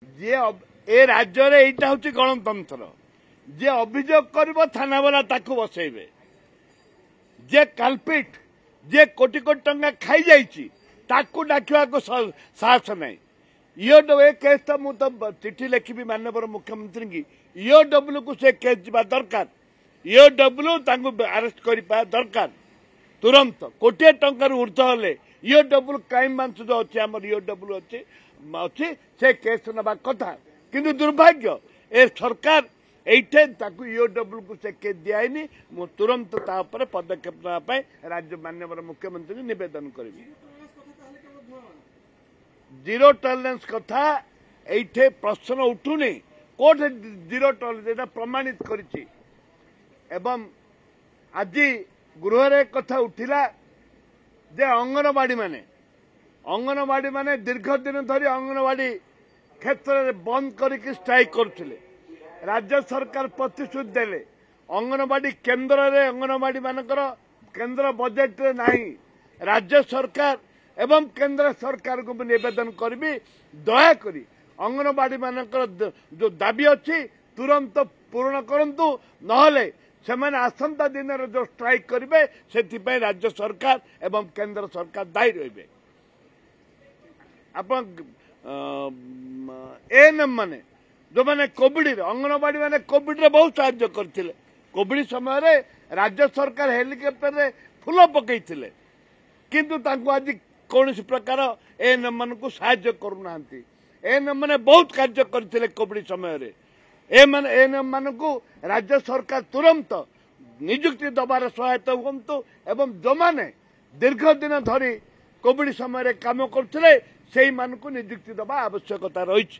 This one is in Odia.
ଯିଏ ଏ ରାଜ୍ୟରେ ଏଇଟା ହେଉଛି ଗଣତନ୍ତ୍ର, ଯିଏ ଅଭିଯୋଗ କରିବ ଥାନାବାଲା ତାକୁ ବସେଇବେ, ଯିଏ କାଲପିଟ୍, ଯିଏ କୋଟି କୋଟି ଟଙ୍କା ଖାଇଯାଇଛି ତାକୁ ଡାକିବାକୁ ସାହସ ନାହିଁ। ଇଓ ଏ କେସ୍ ତ ମୁଁ ତ ଚିଠି ଲେଖିବି ମାନ୍ୟବର ମୁଖ୍ୟମନ୍ତ୍ରୀଙ୍କୁ, ଇଓଡବ୍ଲ୍ୟୁକୁ ସେ କେସ୍ ଯିବା ଦରକାର, ଇଓଡବ୍ଲ୍ୟୁ ତାଙ୍କୁ ଆରେଷ୍ଟ କରିବା ଦରକାର ତୁରନ୍ତ। କୋଟିଏ ଟଙ୍କାରୁ ଉର୍ଦ୍ଧ୍ୱ ହେଲେ ଇଓଡବ୍ଲ୍ୟୁ କ୍ରାଇମ୍ ବ୍ରାଞ୍ଚ ଯୋଉ ଅଛି ଆମର, ଇଓଡବ୍ଲ୍ୟୁ ଅଛି, ସେ କେସ୍ ନେବା କଥା। କିନ୍ତୁ ଦୁର୍ଭାଗ୍ୟ ଏ ସରକାର ଏଇଠି ତାକୁ ଇଓଡବ୍ଲ୍ୟୁକୁ ସେ କେସ୍ ଦିଆହେଇନି। ମୁଁ ତୁରନ୍ତ ତା ଉପରେ ପଦକ୍ଷେପ ନେବା ପାଇଁ ରାଜ୍ୟ ମାନ୍ୟବର ମୁଖ୍ୟମନ୍ତ୍ରୀଙ୍କୁ ନିବେଦନ କରିବି। ଜିରୋ ଟଲରେନ୍ସ କଥା ଏଇଠି ପ୍ରଶ୍ନ ଉଠୁନି, କୋଉଠି ଜିରୋ ଟଲରେନ୍ସ ଏଇଟା ପ୍ରମାଣିତ କରିଛି। ଏବଂ ଆଜି ଗୃହରେ କଥା ଉଠିଲା ଯେ ଅଙ୍ଗନବାଡି ମାନେ ଦୀର୍ଘ ଦିନ ଧରି ଅଙ୍ଗନବାଡି କ୍ଷେତ୍ରରେ ବନ୍ଦ କରିକି ଷ୍ଟ୍ରାଇକ୍ କରୁଥିଲେ। ରାଜ୍ୟ ସରକାର ପ୍ରତିଶ୍ରୁତି ଦେଲେ ଅଙ୍ଗନବାଡି କେନ୍ଦ୍ରରେ, ଅଙ୍ଗନବାଡି ମାନଙ୍କର କେନ୍ଦ୍ର ବଜେଟରେ ନାହିଁ। ରାଜ୍ୟ ସରକାର ଏବଂ କେନ୍ଦ୍ର ସରକାରଙ୍କୁ ମୁଁ ନିବେଦନ କରିବି, ଦୟାକରି ଅଙ୍ଗନବାଡି ମାନଙ୍କର ଯୋଉ ଦାବି ଅଛି ତୁରନ୍ତ ପୂରଣ କରନ୍ତୁ, ନହେଲେ ସେମାନେ ଆସନ୍ତା ଦିନରେ ଯୋଉ ଷ୍ଟ୍ରାଇକ୍ କରିବେ ସେଥିପାଇଁ ରାଜ୍ୟ ସରକାର ଏବଂ କେନ୍ଦ୍ର ସରକାର ଦାୟୀ ରହିବେ। ଆପଣ ଏଏନ୍ଏମ୍ ମାନେ ଯୋଉମାନେ କୋଭିଡରେ, ଅଙ୍ଗନବାଡି ମାନେ କୋଭିଡରେ ବହୁତ ସାହାଯ୍ୟ କରିଥିଲେ। କୋଭିଡ ସମୟରେ ରାଜ୍ୟ ସରକାର ହେଲିକପ୍ଟରରେ ଫୁଲ ପକେଇଥିଲେ, କିନ୍ତୁ ତାଙ୍କୁ ଆଜି କୌଣସି ପ୍ରକାର ଏଏନ୍ଏମ୍ ମାନଙ୍କୁ ସାହାଯ୍ୟ କରୁନାହାନ୍ତି। ଏଏନ୍ଏମ୍ ମାନେ ବହୁତ କାର୍ଯ୍ୟ କରିଥିଲେ କୋଭିଡ ସମୟରେ। ଏମାନେ ଏଏନ୍ଏମ୍ ମାନଙ୍କୁ ରାଜ୍ୟ ସରକାର ତୁରନ୍ତ ନିଯୁକ୍ତି ଦେବାର ସହାୟତା ହୁଅନ୍ତୁ, ଏବଂ ଯୋଉମାନେ ଦୀର୍ଘ ଦିନ ଧରି କୋଭିଡ ସମୟରେ କାମ କରୁଥିଲେ ସେଇମାନଙ୍କୁ ନିଯୁକ୍ତି ଦେବା ଆବଶ୍ୟକତା ରହିଛି।